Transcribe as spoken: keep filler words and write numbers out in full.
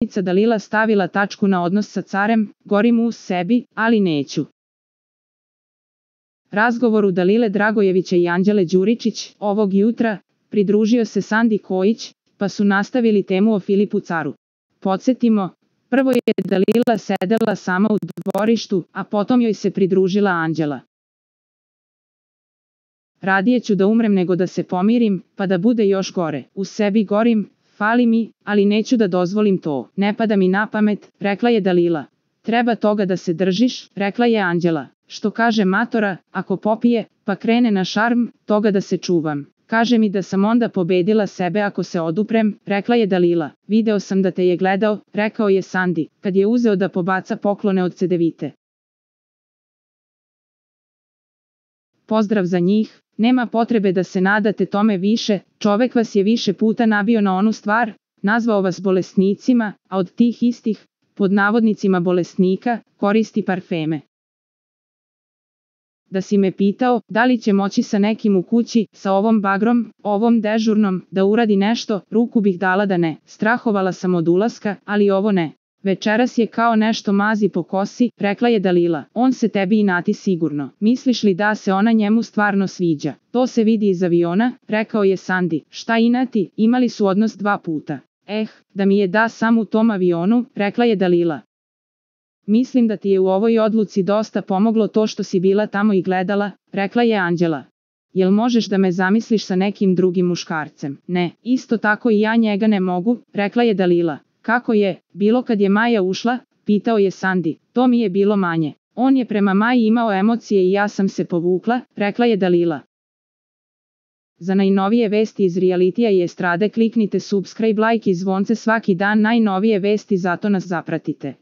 glumica Dalila stavila tačku na odnos sa carem, gorim u sebi, ali neću. Razgovoru Dalile Dragojevića i Anđele Đuričić, ovog jutra, pridružio se Sandi Kojić, pa su nastavili temu o Filipu caru. Podsjetimo, prvo je Dalila sedela sama u dvorištu, a potom joj se pridružila Anđela. Radije ću da umrem nego da se pomirim, pa da bude još gore. U sebi gorim, fali mi, ali neću da dozvolim to. Ne pada mi na pamet, rekla je Dalila. Treba toga da se držiš, rekla je Anđela. Što kaže matora, ako popije, pa krene na šarm, toga da se čuvam. Kaže mi da sam onda pobedila sebe ako se oduprem, rekla je Dalila. Video sam da te je gledao, rekao je Sandi, kad je uzeo da pobaca poklone od Cedevite. Pozdrav za njih, nema potrebe da se nadate tome više, čovek vas je više puta nabio na onu stvar, nazvao vas bolesnicima, a od tih istih, pod navodnicima bolesnika, koristi parfeme. Da si me pitao, da li će moći sa nekim u kući, sa ovom bagrom, ovom dežurnom, da uradi nešto, ruku bih dala da ne. Strahovala sam od ulaska, ali ovo ne. Večeras je kao nešto mazi po kosi, rekla je Dalila. On se tebi inati sigurno. Misliš li da se ona njemu stvarno sviđa? To se vidi iz aviona, rekao je Sandi. Šta inati, imali su odnos dva puta. Eh, da mi je da sam u tom avionu, rekla je Dalila. Mislim da ti je u ovoj odluci dosta pomoglo to što si bila tamo i gledala, rekla je Anđela. Jel možeš da me zamisliš sa nekim drugim muškarcem? Ne, isto tako i ja njega ne mogu, rekla je Dalila. Kako je, bilo kad je Maja ušla, pitao je Sandi. To mi je bilo manje. On je prema Maji imao emocije i ja sam se povukla, rekla je Dalila. Za najnovije vesti iz realitija i estrade kliknite subscribe, like i zvonce svaki dan, najnovije vesti, zato nas zapratite.